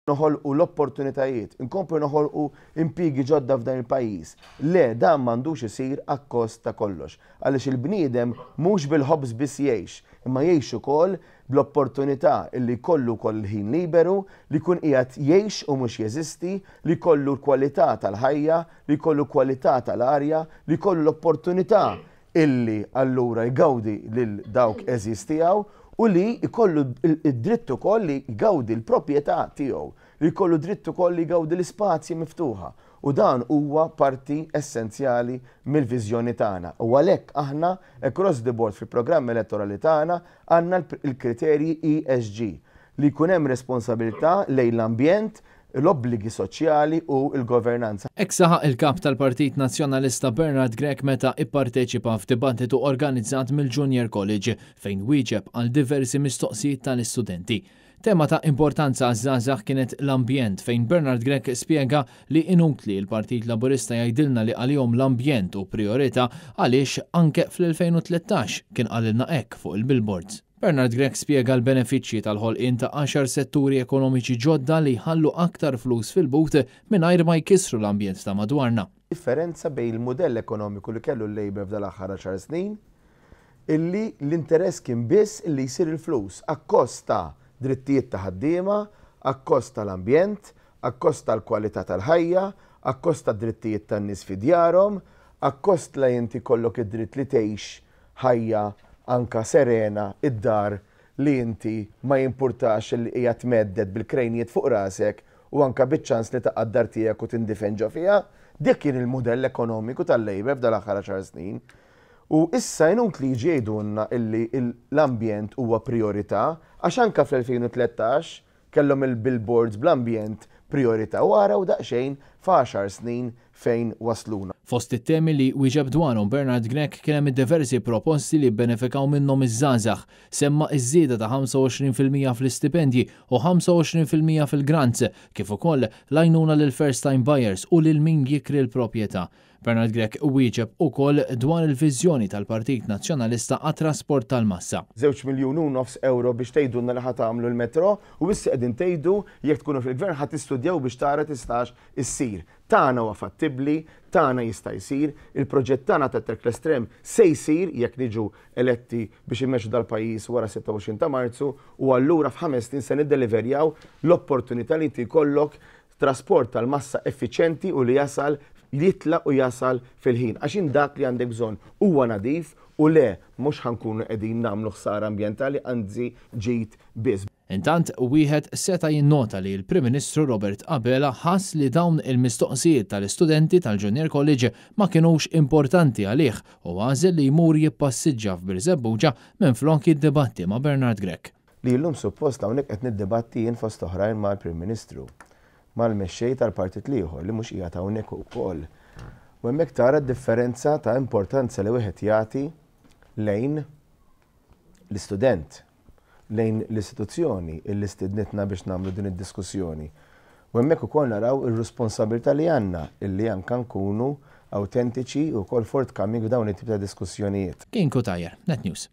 Noħolqu l-opportunitajiet, inkomplu noħolqu impjiegi ġodda f'dan il-pajjiż. Le, dan m'għandux isir akkost ta' kollox. Għaliex il-bniedem mhux bil-ħobż biss jgħix, imma jgħix ukoll bl-opportunità illi jkollu wkoll il-ħin liberu, li jkun qiegħed jgħix u mhux jeżisti, li jkollu l-kwalità tal-ħajja, li jkollu kwalità tal-arja, li jkollu l-opportunità illi allura jgawdi lil dawk għeżież tiegħu u li jkollu d-dritt ukoll li jgawdi l-proprjetà tiegħu, li jkollu dritt ukoll li jgawdi l-ispazji miftuħa. U dan huwa parti essenzjali mill-viżjoni tagħna. U għalhekk aħna across the board fil-programm elettorali tagħna għandna l-kriterji ESG, li jkun hemm responsabilità lejn l-ambjent, l-obbligi soċjali u l-governanza. Hekk saħaq il-Kap tal-Partit Nazzjonalista Bernard Grech meta ipparteċipa f'dibattitu organizzat mill-Junior College fejn wieġeb għal diversi mistoqsijiet tal-istudenti. Tema ta' importanza għaż-żgħażagħ kienet l-ambjent fejn Bernard Grech spjega li inutli l-Partit Laburista jgħidilna li għalihom l-ambjent hu prijorità għaliex anke fl-2013 kien qalilna hekk fuq il-billboards. Bernard Grech spjega l-benefiċċji tal-ħolqien ta' għaxar setturi ekonomiċi ġodda li jħallu aktar flus fil-but mingħajr ma jkissru l-ambjent ta' madwarna. Differenza bejn il-mudell ekonomiku li kellu l-Labour f'dal-aħħar għaxar snin, illi l-interess kien biss illi jsir il-flus akkost ta' drittijiet ta' ħaddiema, akkost tal-ambjent, akkost tal-kwalità tal-ħajja, akkost tad-drittijiet tan-nies fi djarhom, akkost la inti jkollok id-dritt li tgħix ħajja anka serena id-dar li inti ma jimpurtax li qiegħed mhedded bil-krejnijiet fuq rasek u anka biċ-ċans li taqa' d-dar tiegħek u tindifen ġo fiha. Dik kien il-mudell ekonomiku tal-Labour f'dal-aħħar għaxar snin. U issa inutli jiġi jgħidulna illi l-ambjent huwa prijorità għax anka fl-2013 Kellhom il-billboards bl-ambjent prijorità u araw daqsxejn f'għaxar snin fejn wassluna. Fost it-temi li wieġeb dwarhom Bernard Grech kien hemm id-diversi proposti li bbenefikaw minnhom iż-żgħażagħ. Semma ż-żieda ta' 25% fl-istipendji u 25% fil-grants, kif ukoll l-għajnuna lill-first time buyers u lil min jikri l-proprjetà. Bernard Grech wieġeb ukoll dwar il-viżjoni tal-Partit Nazzjonalista għat-trasport tal-massa. Żewġ miljun u nofs ewro biex tgħidulna li ħa tagħmlu l-metro u issa qegħdin tgħidu jekk tkunu fil-Gvern ħa tistudjaw biex tara tistax issir. Tagħna huwa fattibbli, tagħna jista' jsir, il-proġett tagħna tat-Trackless Tram se jsir jekk niġu eletti biex immexxu dal-pajjiż wara 26 ta' Marzu u allura f'ħames snin se niddeliverjaw l-opportunità li inti jkollok Trasport tal-massa effiċjenti u li jasal, jitlaq u jasal fil-ħin. Għax int dak li għandek bżonn huwa nadif u le mhux ħa nkunu qegħdin nagħmlu ħsara ambjentali anzi ġid biss. Intant, wieħed seta' jinnota li l-Prim Ministru Robert Abela ħass li dawn il-mistoqsijiet tal-istudenti tal-Junior College ma kinux importanti għalih u għażel li jmur jippassiġġa f'Birżebbuġa minflok jiddibatti ma' Bernard Grech. Li llum suppost hawnhekk qed niddibatti jien fost oħrajn mal-Prim Ministru, mal-mexxej tal-partit l-ieħor li mhux qiegħed hawnhekk ukoll. U hemmhekk tara d-differenza ta' importanza li wieħed jagħti lejn l-istudent, lejn l-istituzzjoni illi stidnitna biex nagħmlu din id-diskussjoni. U hemmhekk ukoll naraw ir-responsabilità li għandna illi anke nkunu awtentiċi u wkoll forthcoming f'dawn it-tip ta' diskussjonijiet. Kien Cutajar, Net News.